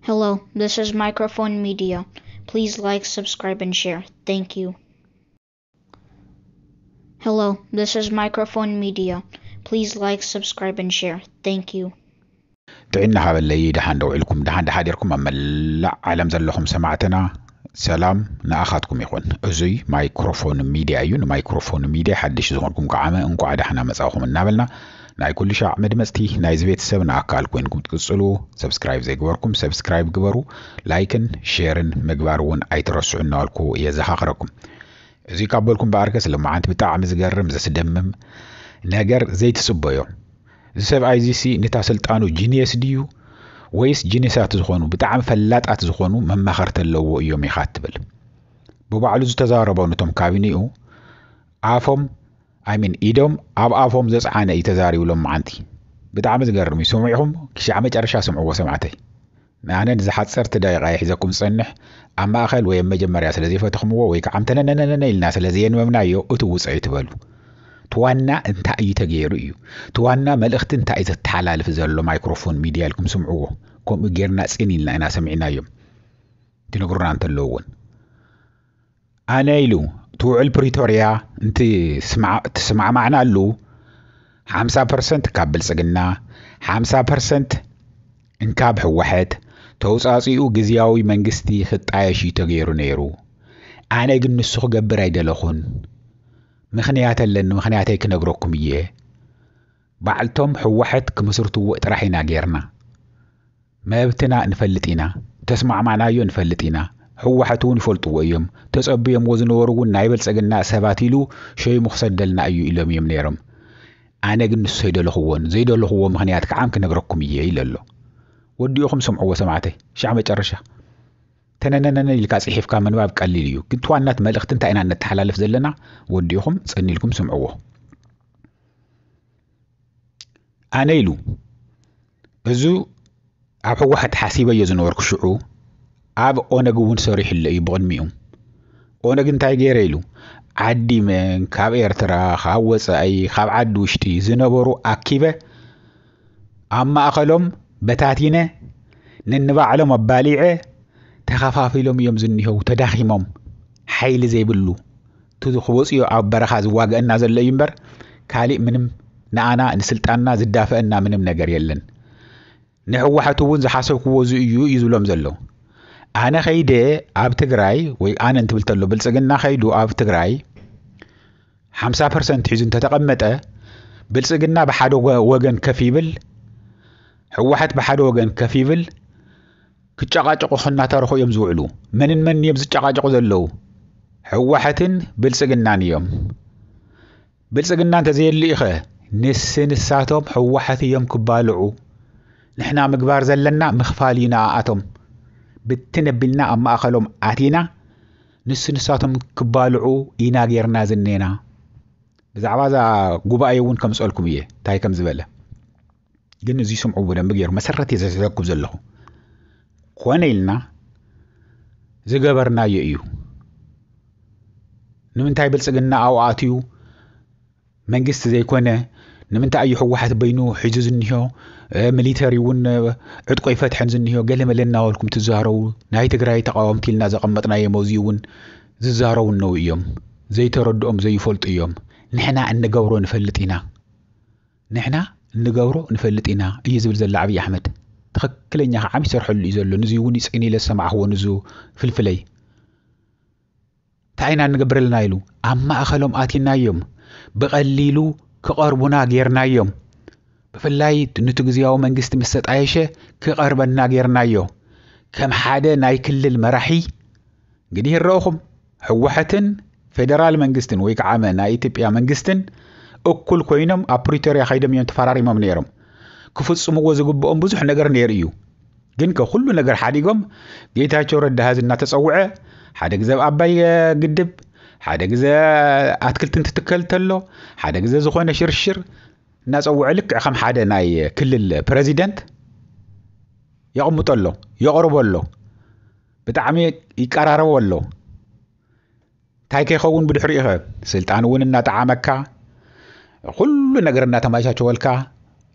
Hello, this is Microphone Media. Please like, subscribe, and share. Thank you. Hello, this is Microphone Media. Please like, subscribe, and share. Thank you. ጥዕና ሃበለይ። ደሓን ደውዒልኩም፣ ደሓን ደሓዲርኩም ኣብ መላእ ዓለም ዘለኹም ሰማዕትና፣ ሰላም ንኣኻትኩም ይኹን። እዙይ ማይክሮፎን ሚድያ እዩ። ንማይክሮፎን ሚድያ ሓድሽ ዝኾንኩም ከዓመ እንቋዕ ደሓና መጻእኹም እናበልና፣ ናይ ኩሉ ሻዕ መድመፅቲ ናይዚ ቤተሰብ ንኣካል ኮይንኩም ትቅፅሉ፣ ሰብስክራይብ ዘይገበርኩም ሰብስክራይብ ግበሩ። ላይክን ሼርን ምግባር እውን ኣይትረስዑ እናበልኩ የዘኻኽረኩም። እዚ ካብ በልኩም በኣርከስ ልማዓንቲ ብጣዕሚ ዝገርም ዘስደምም ነገር ዘይትፅበዮ። እዚ ሰብኣይ እዚ ሲ ንታ ስልጣኑ ጂኒየስ ድዩ ወይስ ጂኒሳት ዝኾኑ ብጣዕሚ ፈላጣት ዝኾኑ መማኸርቲ ኣለዎ እዮም ኢኻ ትብል? ብባዕሉ ዝተዛረቦ ነቶም ካቢኔኡ ኣፎም ኣይሚን ኢዶም ኣብ ኣፎም ዘፅዓነ እዩ ተዛሪቡ ሎም መዓንቲ። ብጣዕሚ ዝገርም እዩ። ስምዒኹም ክሻዕ መጨረሻ ስምዕዎ ሰማዕተይ። ንኣነ ንዝሓፀርቲ ደቂቃ ይሒዘኩም ዝፀንሕ ኣብ ማእኸል ወይ ኣብ መጀመርያ ስለ ዘይፈተኽምዎ ወይ ከዓ ተነነነነ ኢልና ስለ ዘየንበብናዮ እቲ ውፀ እዩ ትበሉ። ትዋና እንታይ እዩ ተገይሩ እዩ? ትዋና መልእኽቲ እንታይ እዩ ዘተሓላልፍ ዘሎ? ማይክሮፎን ሚድያ ኢልኩም ስምዕዎ። ከምኡ ጌርና ፅን ኢልና ኢና ሰሚዕናዮም ትነግሩና እንተለዉ እውን። ኣነ ኢሉ እቲ ውዕል ፕሪቶርያ እንትስማዕማዕናሉ ሓምሳ ፐርሰንት ካብ ብልፅግና፣ ሓምሳ ፐርሰንት እንካብ ህወሐት ተውፃፂኡ ግዝያዊ መንግስቲ ክጣየሽ እዩ ተገይሩ ነይሩ። ኣነ ግን ንሱ ክገብር ኣይደለኹን። ምኽንያት ኣለኒ፣ ምኽንያተይ ክነግረኩም እየ። ባዕልቶም ህወሐት ክምስርትዎ ጥራሕ ኢና ጌርና። መብትና ንፈልጥ ኢና፣ ተስማዕማዕናዮ ንፈልጥ ኢና። ህወሓት እውን ይፈልጥዎ እዮም። ተጸብዮምዎ ዝነበሩ እውን ናይ ብልጽግና ሰባት ኢሉ ሸይሙ ክሰደልና እዩ ኢሎም እዮም ነይሮም። ኣነ ግን ንሱ ኣይደለኽዎን፣ ዘይደለኽዎ ምኽንያት ከዓ ክነግረኩም እየ ኢለ ኣሎ። ወዲእኹም ስምዕዎ ሰማዕተይ፣ ሻዕ መጨረሻ። ተነነነነ ኢልካ ጽሒፍካ ምንባብ ቀሊል እዩ፣ ግን ትዋናት መልእኽቲ እንታይ ኢና እነተሓላልፍ ዘለና ወዲእኹም ጸኒልኩም ስምዕዎ። ኣነ ኢሉ እዙ ኣብ ህወሓት ሓሲበዮ ዝነበርኩ ሽዑ ኣብ ኦነግ እውን ሰሪሕለ እዩ ብቕድሚኡ። ኦነግ እንታይ ገይረ ኢሉ ዓዲመ ካብ ኤርትራ ካብ ወፃኢ ካብ ዓዲ ውሽጢ ዝነበሩ ኣኪበ ኣብ ማእኸሎም በታቲነ ነንባዕሎም ኣባሊዐ ተኸፋፊሎም እዮም ዝኒሀው ተዳኺሞም ሓይሊ ዘይብሉ እቲ ክወፅዮ ኣብ በረኻ ዝዋገአና ዘሎ እዩ እምበር ካሊእ ምንም ንኣና ንስልጣንና ዝዳፈአና ምንም ነገር የለን። ንህወሓት እውን ዝሓሰብክዎ እዚ እዩ እዩ ዝብሎም ዘሎ። ኣነ ኸይደ ኣብ ትግራይ ወይ ኣነ እንትብል ተሎ ብልፅግና ኸይዱ ኣብ ትግራይ ሓምሳ ፐርሰንት ሒዙ እንተተቐመጠ ብልፅግና ብሓደ ወገን ከፍ ይብል፣ ህወሓት ብሓደ ወገን ከፍ ይብል ክጨቃጨቁ ክናተርኹ እዮም ዝውዕሉ። መንን መን እዮም ዝጨቃጨቁ ዘለዉ? ህወሓትን ብልፅግናን እዮም። ብልፅግና እንተዘየልኢኸ ንስ ንሳቶም ህወሓት እዮም ክባልዑ። ንሕና ምግባር ዘለና ምኽፋል እዩ ንኣኣቶም። ብትን ኣቢልና ኣብ ማእኸሎም ኣቲና ንስ ንሳቶም ክባልዑ ኢና ጌርና ዝኔና። ብዛዕባ እዛ ጉባኤ እውን ከምፅኦልኩም እየ እንታይ ከም ዝበለ። ግን እዚ ስምዑ ብደንቢ ገይሩ መሰረት እየ ዘትሕዘኩም ዘለኹ። ኮነ ኢልና ዝገበርናዮ እዩ። ንምንታይ ብልፅግና ኣብኡ ኣትዩ መንግስቲ ዘይኮነ? ንምንታይ እዩ ህወሓት በይኑ ሒዙ ዝኒሆ? ሚሊተሪ እውን ዕጥቆ ይፈትሐን ዝኒሆ ገለመለ እናበልኩም ትዛረቡ። ናይ ትግራይ ተቃወምቲ ኢልና ዘቐመጥናዮም ኣብዚ እውን ዝዛረቡ እነው እዮም። ዘይተረድኦም ዘይፈልጡ እዮም። ንሕና እንገብሮ ንፈልጥ ኢና። ንሕና እንገብሮ ንፈልጥ ኢና እዩ ዝብል ዘሎ ኣብይ ኣሕመድ። ትኽክለኛ ከዓ ይሰርሐሉ እዩ ዘሎ። ንዚ እውን ይፅን ኢለ ዝሰማዕኽዎ ንዙ ፍልፍለይ እንታይ ኢና እንገብር ኣለና ኢሉ ኣብ ማእኸሎም ኣቲናዮም ብቐሊሉ ክቐርቡና ጌርናዮም። ብፍላይ ንቲ ግዝያዊ መንግስቲ ምስ ተጣየሸ ክቐርበና ጌርናዮ። ከም ሓደ ናይ ክልል መራሒ እንግዲህ ይረእኹም ህወሓትን ፌደራል መንግስትን ወይ ከዓ ናይ ኢትዮጵያ መንግስትን እኩል ኮይኖም ኣብ ፕሪቶርያ ከይዶም እዮም ተፈራሪሞም ነይሮም። ክፍፅምዎ ዝግብኦም ብዙሕ ነገር ነይሩ እዩ። ግን ከኩሉ ነገር ሓዲጎም ጌታቸው ረዳ ሀዚ እናተፀውዐ ሓደ ግዜ ኣብ ኣባይ ግድብ ሓደ ግዜ ኣትክልቲ እንትትከል ተሎ ሓደ ግዜ ዝኾነ ሽርሽር እናፀውዐ ልክዕ ከም ሓደ ናይ ክልል ፕረዚደንት የቕምጦ ኣሎ፣ የቕርቦ ኣሎ፣ ብጣዕሚ ይቀራረቦ ኣሎ። እንታይ ከይኸውን ብድሕሪኡ ኸ ስልጣን እውን እናጠዓመካ ኩሉ ነገር እናተመቻቸወልካ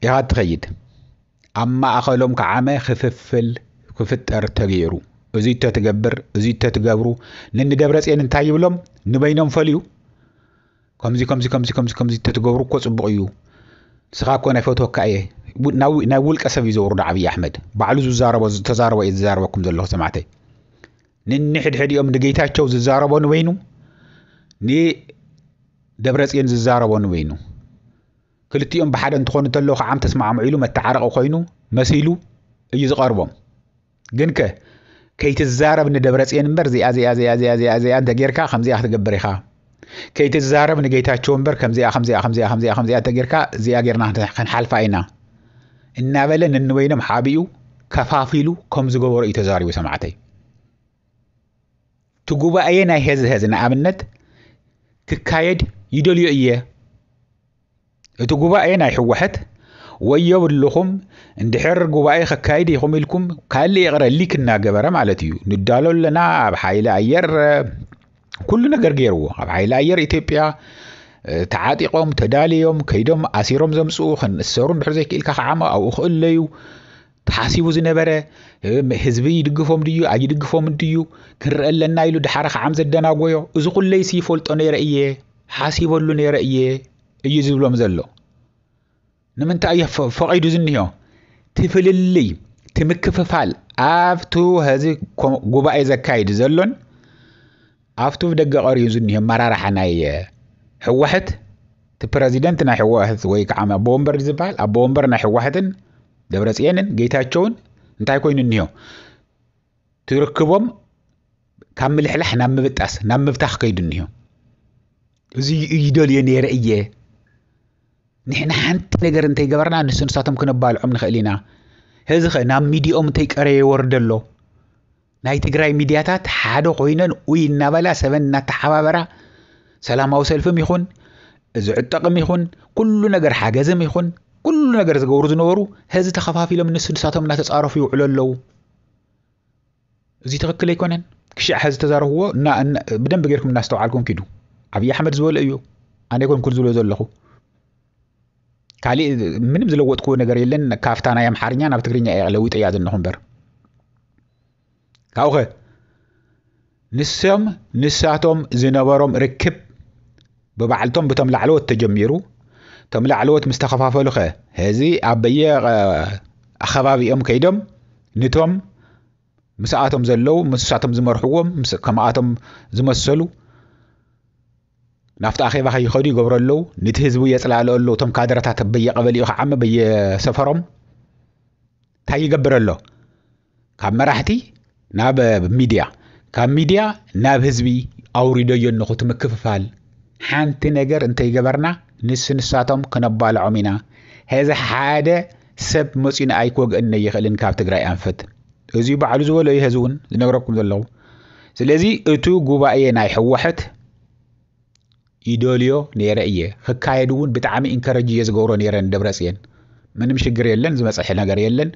ኢኻ ትኸይድ። ኣብ ማእኸሎም ከዓመ ክፍፍል ክፍጠር ተገይሩ። እዚ ተትገብር፣ እዚ ተትገብሩ፣ ንንደብረፅዮን እንታይ ይብሎም? ንበይኖም ፈልዩ። ከምዚ፣ ከምዚ፣ ከምዚ፣ ከምዚ፣ ከምዚ ተትገብሩ እኮ ፅቡቕ እዩ። ንስኻ እኮ ናይ ፈትወካ እየ። ው-፣ ናብ ው-፣ ናይ ውልቀ ሰብ እዩ ዘውርዶ ኣብይ ኣሕመድ። ባዕሉ ዝዛረቦ፣ ዝተዛረቦ እየ ዝዛረበኩም ዘለኹ ሰማዕተይ። ንንሕድሕዲኦም ንጌታቸው ዝዛረቦ ንበይኑ፣ ንደብረፅዮን ዝዛረቦ ንበይኑ። ክልቲኦም ብሓደ እንትኾኑ እንተለዉ ከዓ ተስማዕምዑ ኢሉ መተዓረቒ ኮይኑ መሲሉ እዩ ዝቐርቦም። ግንከ ከይትዛረብ ንደብረፅዮን እምበር እዚኣ፣ እዚኣ፣ እዚኣ፣ እዚኣ፣ እዚኣ፣ እዚኣ እንተጌርካ ከምዚኣ ክትገብር ኢኻ። ከይትዛረብ ንጌታቸው እምበር ከምዚኣ፣ ከምዚኣ፣ ከምዚኣ፣ ከምዚኣ፣ ከምዚኣ እንተጌርካ እዚኣ ጌርና ክንሓልፋ ኢና እናበለ ነንበይኖም ሓቢኡ ከፋፊሉ ከም ዝገበሮ እዩ ተዛሪቡ ሰማዕተይ። እቲ ጉባኤ ናይ ሄዚ ሄዚ ንኣብነት ክካየድ ይደልዮ እየ። እቲ ጉባኤ ናይ ህወሐት ወይ የብልኹም፣ እንድሕር ጉባኤ ከካይድ ኢኹም ኢልኩም ካልእ ይቕረ ሊክ እናገበረ ማለት እዩ። ንዳሎ ኣለና ኣብ ሓይሊ ኣየር፣ እ፣ ኩሉ ነገር ገይርዎ። ኣብ ሓይሊ ኣየር ኢትዮጵያ፣ እ፣ ተዓጢቖም፣ ተዳልዮም፣ ከይዶም ኣሲሮም ዘምፅኡ፣ ክንእሰሩ እንድሕር ዘይክኢልካ ከዓ ኣብኡ ክእለዩ ተሓሲቡ ዝነበረ፣ እ፣ ህዝቢ ይድግፎም ድዩ ኣይድግፎም ድዩ ክንርኢ ኣለና ኢሉ ድሓረ ከዓ ዘደናጎዮ። እዚ ኩለይሲ ይፈልጦ ነይረ እየ፣ ሓሲበሉ ነይረ እየ እዩ ዝብሎም ዘሎ። ንምንታይ እዩ ፈ-፣ ፈቒዱ ዝኒሆ? ትፍልልይ፣ ትምክፍፋል ኣብቱ ሀዚ ኮ-፣ ጉባኤ ዘካይድ ዘሎን ኣብቱ ብደገ ቀርዩ ዝኒሆ ኣመራርሓ ናይ ህወሐት፣ እቲ ፕረዚደንት ናይ ህወሐት ወይ ከዓ ኣቦ ወንበር ዝበሃል፣ ኣቦ ወንበር ናይ ህወሐትን ደብረፅየንን ጌታቸውን እንታይ ኮይኑ እኒሆ? ትርክቦም ካብ ምልሕላሕ ናብ ምብጣስ፣ ናብ ምብታኽ ከይዱ እኒሆ። እዚ ይደልዮ ነይረ እየ። ንሕና ሓንቲ ነገር እንተይገበርና ንሱ ንሳቶም ክነባልዖም ንኽእል ኢና። ሕዚ ኸ ናብ ሚዲኦም እንተይቀረየ ይወርድ ኣሎ። ናይ ትግራይ ሚድያታት ሓደ ኮይነን ኡይ እናበላ ሰበን እናተሓባበራ ሰላማዊ ሰልፍም ይኹን ዝዕጠቕም ይኹን ኩሉ ነገር ሓገዝም ይኹን ኩሉ ነገር ዝገብሩ ዝነበሩ ሕዚ ተኸፋፊሎም ንሱ ንሳቶም እናተፃረፉ ይውዕሉ ኣለዉ። እዚ ትኽክል ኣይኮነን። ክሻዕ ሕዚ ተዛረብዎ እና፣ እና፣ ብደንብ ጌርኩም እናስተውዓልኩም ኪዱ። ኣብይ ኣሕመድ ዝበሎ እዩ። ኣነ ኣይኮንኩን ዝብሎ ዘለኹ። ካሊእ ምንም ዝለወጥኩዎ ነገር የለን። ካብታ ናይ ኣምሓርኛ ናብ ትግርኛ እየ ለዊጠያ ዘለኹ እምበር። ካብኡኸ ንሶም ንሳቶም ዝነበሮም ርክብ ብባዕልቶም ብቶም ላዕለዎት ተጀሚሩ። እቶም ላዕለዎት ምስ ተኸፋፈሉ ኸ፣ ሕዚ ኣብ በየ፣ እ፣ ኣኸባቢኦም ከይዶም ንቶም ምስኣቶም ዘለዉ፣ ምስሳቶም ዝመርሕዎም፣ ምስ፣ ከምኣቶም ዝመሰሉ ናብቲ ኣኼባ ከይኸዱ ይገብሩ ኣለዉ። ነቲ ህዝቡ የፅላእሉ ኣለዉ። እቶም ካድረታት በየቀበሊኡ ክዓሚ በየሰፈሮም እንታይ ይገብር ኣሎ? ካብ መራሕቲ ናብ ሚድያ፣ ካብ ሚድያ ናብ ህዝቢ ኣውሪደዮ እነኹ እቲ ምክፍፋል። ሓንቲ ነገር እንተይገበርና ንስ ንሳቶም ክነባልዖም ኢና። ሕዚ ሓደ ሰብ መፂኡ ንኣይ ክወግአኒ ኣይኽእልን ካብ ትግራይ ኣንፈት። እዚ ባዕሉ ዝበሎ እዩ፣ ሕዚ እውን ዝነግረኩም ዘለኹ። ስለዚ እቲ ጉባኤ ናይ ህወሐት ይደልዮ ነይረ እየ። ክካየድ እውን ብጣዕሚ ኢንከረጅ እየ ዝገብሮ ነይረ ንደብረፅየን። ምንም ሽግር የለን፣ ዝመፀሐ ነገር የለን።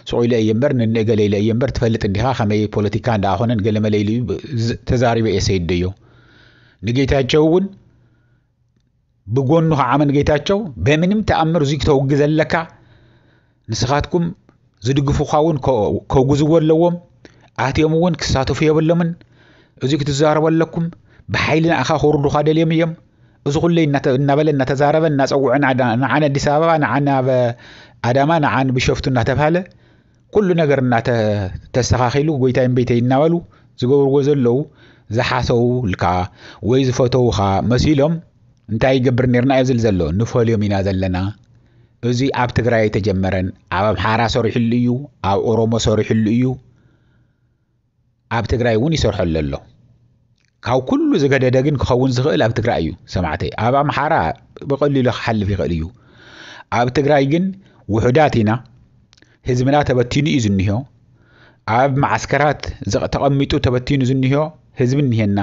ሱቕ ኢለ እየ እምበር፣ ንንእገለ ኢለ እየ እምበር፣ ትፈልጥ እንዲኻ ከመይ ፖለቲካ እንዳኾነን ገለመለ ኢሉ እዩ ዝ-፣ ተዛሪበ እየ ሰይደዮ። ንጌታቸው እውን ብጎኑ ከዓ መን ጌታቸው በምንም ተኣምር እዚ ክተውግዘ ኣለካ፣ ንስኻትኩም ዝድግፉኻ እውን ከ-፣ ከውግዝዎ ኣለዎም። ኣትዮም እውን ክሳተፉ የብሎምን። እዚ ክትዛረቡ ኣለኩም። ብሓይሊ ንኣኻ ከውርዱኻ ደልዮም እዮም። እዚ ኩለይ እናተ-፣ እናበለ እናተዛረበ እናፀውዐ ንዓ-፣ ንዓን ኣዲስ ኣበባ፣ ንዓን ኣብ ኣዳማ፣ ንዓን ቢሾፍቱ እናተባሃለ ኩሉ ነገር እናተ-፣ ተስተኻኺሉ ጎይታይ እምበይተይ እናበሉ ዝገብርዎ ዘለዉ ዝሓሰውልካ ወይ ዝፈተዉኻ መሲሎም እንታይ ይገብር ነይርና እዩ ዝብል ዘሎ። ንፈልዮም ኢና ዘለና። እዚ ኣብ ትግራይ ኣይተጀመረን። ኣብ ኣምሓራ ሰሪሕሉ እዩ፣ ኣብ ኦሮሞ ሰሪሕሉ እዩ፣ ኣብ ትግራይ እውን ይሰርሐሉ ኣሎ። ካብ ኩሉ ዝገደደ ግን ክኸውን ዝኽእል ኣብ ትግራይ እዩ ሰማዕተይ። ኣብ ኣምሓራ ብቐሊሉ ክሓልፍ ይኽእል እዩ። ኣብ ትግራይ ግን ውሑዳት ኢና። ህዝብና ተበቲኑ እዩ ዝኒሆ። ኣብ መዓስከራት ዘ-፣ ተቐሚጡ ተበቲኑ ዝኒሆ ህዝቢ እኒሄና።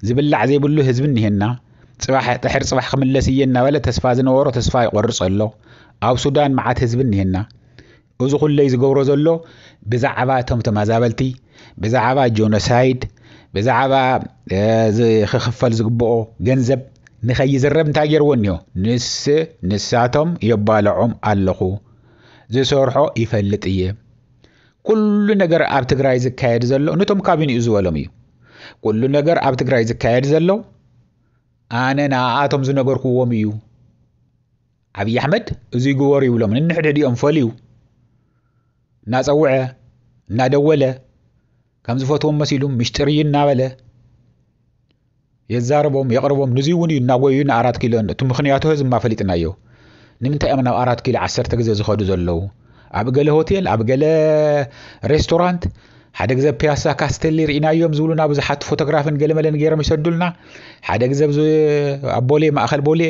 ዝብላዕ ዘይብሉ ህዝቢ እኒሄና። ፅባሕ ድሕሪ ፅባሕ ክምለስ እየ እናበለ ተስፋ ዝነበሮ ተስፋ ይቆርፅ ኣሎ። ኣብ ሱዳን መዓት ህዝቢ እኒሄና። እዚ ኩለይ ዝገብሮ ዘሎ ብዛዕባ እቶም ተመዛበልቲ፣ ብዛዕባ ጆኖሳይድ፣ ብዛዕባ፣ እ፣ ዝ-፣ ክኽፈል ዝግብኦ ገንዘብ ንኸይዝረብ እንታይ ገይርዎ እኒሆ? ንስ-፣ ንሳቶም የባልዖም ኣለኹ። ዝሰርሖ ይፈልጥ እየ። ኩሉ ነገር ኣብ ትግራይ ዝካየድ ዘሎ ነቶም ካቢንኡ ዝበሎም እዩ። ኩሉ ነገር ኣብ ትግራይ ዝካየድ ዘሎ ኣነ ንኣቶም ዝነገርኩዎም እዩ። ኣብይ ኣሕመድ እዚ ግበሩ ይብሎም፣ ንንሕድሕዲኦም ፈልዩ እናፀውዐ እናደወለ ከም ዝፈትዎም መሲሉ ምሽጥር እዩ እናበለ የዛርቦም የቕርቦም። ንዚ እውን እዩ እናጎዩ ንኣራት ኪሎ። እቲ ምኽንያቱ ህዝብማ ፈሊጥናዮ። ንምንታይ እዮም ናብ ኣራት ኪሎ ዓሰርተ ግዜ ዝኸዱ ዘለዉ? ኣብ ገለ ሆቴል፣ ኣብ ገለ ሬስቶራንት፣ ሓደ ግዜ ፒያሳ ካስተሊ ርኢናዮም ዝብሉና ብዙሓት ፎቶግራፍን ገለመለን ገይሮም ይሰዱልና። ሓደ ግዜ ኣብዚ ኣብ ቦሌ፣ ማእኸል ቦሌ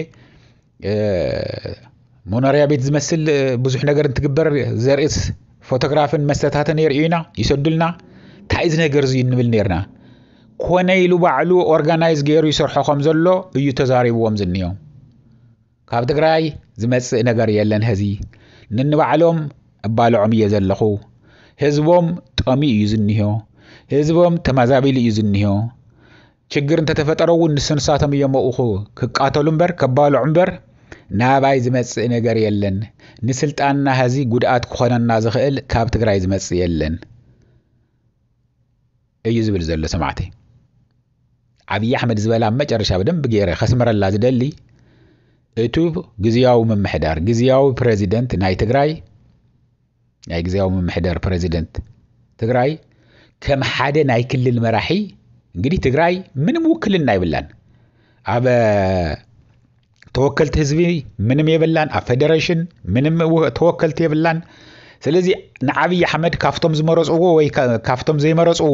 መኖርያ ቤት ዝመስል ብዙሕ ነገር እንትግበር ዘርእስ ፎቶግራፍን መስተታትን የርእዩና ይሰዱልና። እንታይ እዚ ነገር እዚ እንብል ነርና። ኮነ ኢሉ ባዕሉ ኦርጋናይዝ ገይሩ ይሰርሖ ከም ዘሎ እዩ ተዛሪብዎም ዝንዮ። ካብ ትግራይ ዝመፅእ ነገር የለን። ሀዚ ንንባዕሎም እባልዖም እየ ዘለኹ። ህዝቦም ጠሚ እዩ ዝንዮ። ህዝቦም ተማዛቢሉ እዩ ዝንዮ። ችግር እንተተፈጠረ እውን ንስንሳቶም እዮም ኣብኡ ክቃተሉ እምበር ከባልዑ እምበር ናባይ ዝመፅእ ነገር የለን። ንስልጣንና ሀዚ ጉድኣት ክኾነና ዝኽእል ካብ ትግራይ ዝመፅእ የለን እዩ ዝብል ዘሎ ሰማዕተይ። ኣብይ ኣሕመድ ዝበላ መጨረሻ ብደንብ ገይረ ከስምረላ ዝደሊ እቱ ግዝያዊ ምምሕዳር ግዝያዊ ፕረዚደንት ናይ ትግራይ ናይ ግዝያዊ ምምሕዳር ፕረዚደንት ትግራይ ከም ሓደ ናይ ክልል መራሒ እንግዲህ ትግራይ ምንም ውክልና ይብላን ኣብ ተወከልቲ ህዝቢ ምንም የብላን ኣብ ፌደሬሽን ምንም ተወከልቲ የብላን። ስለዚ ንዓብይ ኣሕመድ ካብቶም ዝመረፅዎ ወይ ካብቶም ዘይመረፅዎ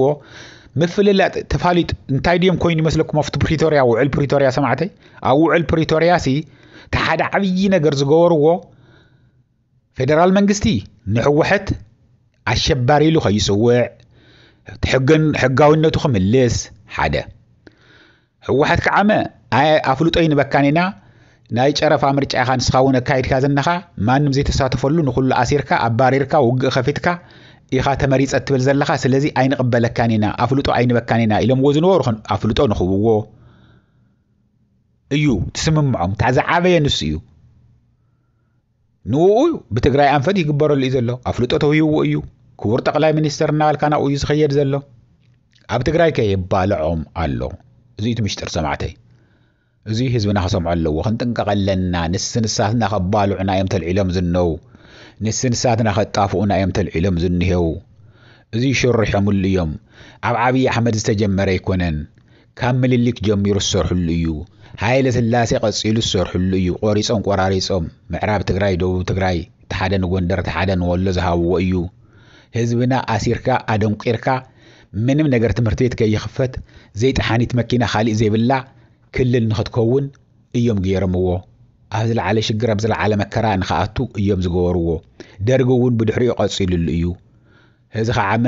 ምፍልላጥ ተፋሊጡ እንታይ ድዮም ኮይኑ ይመስለኩም ኣብቲ ፕሪቶርያ ውዕል ፕሪቶርያ ሰማዕተይ ኣብ ውዕል ፕሪቶርያ ሲ እቲ ሓደ ዓብዪ ነገር ዝገበርዎ ፌደራል መንግስቲ ንህወሐት ኣሸባሪ ኢሉ ከይፅውዕ ሕጋዊነቱ ክምልስ ሓደ ህወሓት ክዓመ ኣፍልጦ ይንበካን ኢና ናይ ጨረፋ ምርጫ ኢኻ ንስኻ እውን ኣካይድካ ዝነኻ ማንም ዘይተሳተፈሉ ንኩሉ ኣሲርካ ኣባሪርካ ውግእ ከፊትካ ኢኻ ተመሪፀ ትብል ዘለኻ ስለዚ ኣይንቕበለካን ኢና ኣፍልጦ ኣይንበካን ኢና ኢሎምዎ ዝነበሩ ኣፍልጦ ንኽብዎ እዩ ትስምምዖም እታ ዝዓበየ ንሱ እዩ ንኡ ብትግራይ ኣንፈት ይግበረሉ እዩ ዘሎ ኣፍልጦ ተውሂዎ እዩ ክቡር ጠቅላይ ሚኒስተር እናበልካ ናብኡ እዩ ዝኸየድ ዘሎ ኣብ ትግራይ ከ የባልዖም ኣሎ እዚእቲ ምሽጥር ሰማዕተይ እዚ ህዝብና ክሰምዖ ኣለዎ ክንጥንቀቐ ኣለና ንስ ንሳትና ከባልዑና እዮም ተልዒሎም ዝነው ንስ ንሳትና ከጣፍኡና እዮም ተልዒሎም ዝንሄው እዚ ሽርሖምሉ እዮም ኣብ ዓብዪ ኣሕመድ ዝተጀመረ ኣይኮነን ካብ ምልሊክ ጀሚሩ ዝሰርሕሉ እዩ። ሃይለ ስላሴ ቀጺሉ ዝሰርሕሉ እዩ። ቆሪጾም ቆራሪጾም ምዕራብ ትግራይ፣ ደቡብ ትግራይ፣ እቲ ሓደ ንጎንደር እቲ ሓደ ንወሎ ዝሃብዎ እዩ። ህዝብና ኣሲርካ ኣደንቂርካ ምንም ነገር ትምህርቲ ቤት ከይኽፈት ዘይጠሓኒት መኪና ካሊእ ዘይብላ ክልል ንኽትከውን እዮም ገይሮምዎ። ኣብ ዝለዓለ ሽግር ኣብ ዝለዓለ መከራ ንኽኣቱ እዮም ዝገበርዎ። ደርጊ እውን ብድሕሪኡ ቀፂሉሉ እዩ። ህዚ ከዓመ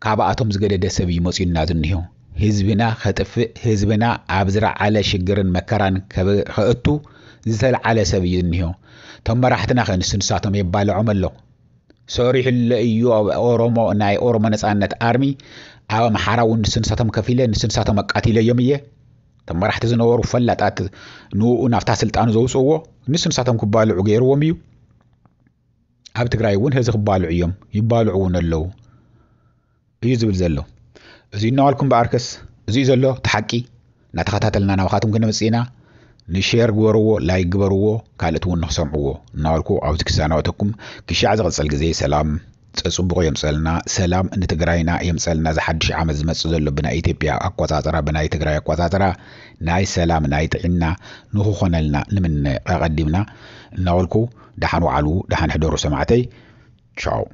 ካብኣቶም ዝገደደ ሰብ እዩ መፅዩና ዝኒሆ። ህዝብና ከጥፍእ፣ ህዝብና ኣብ ዝለዓለ ሽግርን መከራን ከእቱ ዝተለዓለ ሰብ እዩ ዝኒሆ። እቶም መራሕትና ከ ንሱ ንሳቶም የባልዖም ኣሎ። ሰሪሕለ እዩ ኣብ ኦሮሞ ናይ ኦሮሞ ነፃነት ኣርሚ ኣብ ኣምሓራ እውን ንሱ ንሳቶም ከፊለ ንሱ ንሳቶም ኣቃቲለዮም እየ። እቶም መራሕቲ ዝነበሩ ፈላጣት ንኡ ናብታ ስልጣኑ ዘውፅእዎ ንሱ ንሳቶም ክባልዑ ገይርዎም እዩ። ኣብ ትግራይ እውን ህዚ ክባልዑ እዮም ይባልዑ እውን ኣለዉ እዩ ዝብል ዘሎ እዚ እናዋልኩም በኣርከስ እዚ ዘሎ ተሓቂ እናተኸታተልና ናባኻትኩም ክነምፅእ ኢና ንሼር ግበርዎ ላይክ ግበርዎ ካልእት እውን ንክሰምዕዎ እናዋልኩ ኣብዚ ክሰናበተኩም ክሻዕ ዝቕፅል ግዜ ሰላም ፅቡቕ የምፀልና ሰላም ንትግራይና የምፀልና እዚ ሓድሽ ዓመት ዝመፅእ ዘሎ ብናይ ኢትዮጵያ ኣቆፃፅራ ብናይ ትግራይ ኣቆፃፅራ ናይ ሰላም ናይ ጥዕና ንክኾነልና ንምነ ኣቐዲምና እናበልኩ ደሓን ዋዕሉ ደሓን ሕደሩ ሰማዕተይ ቻው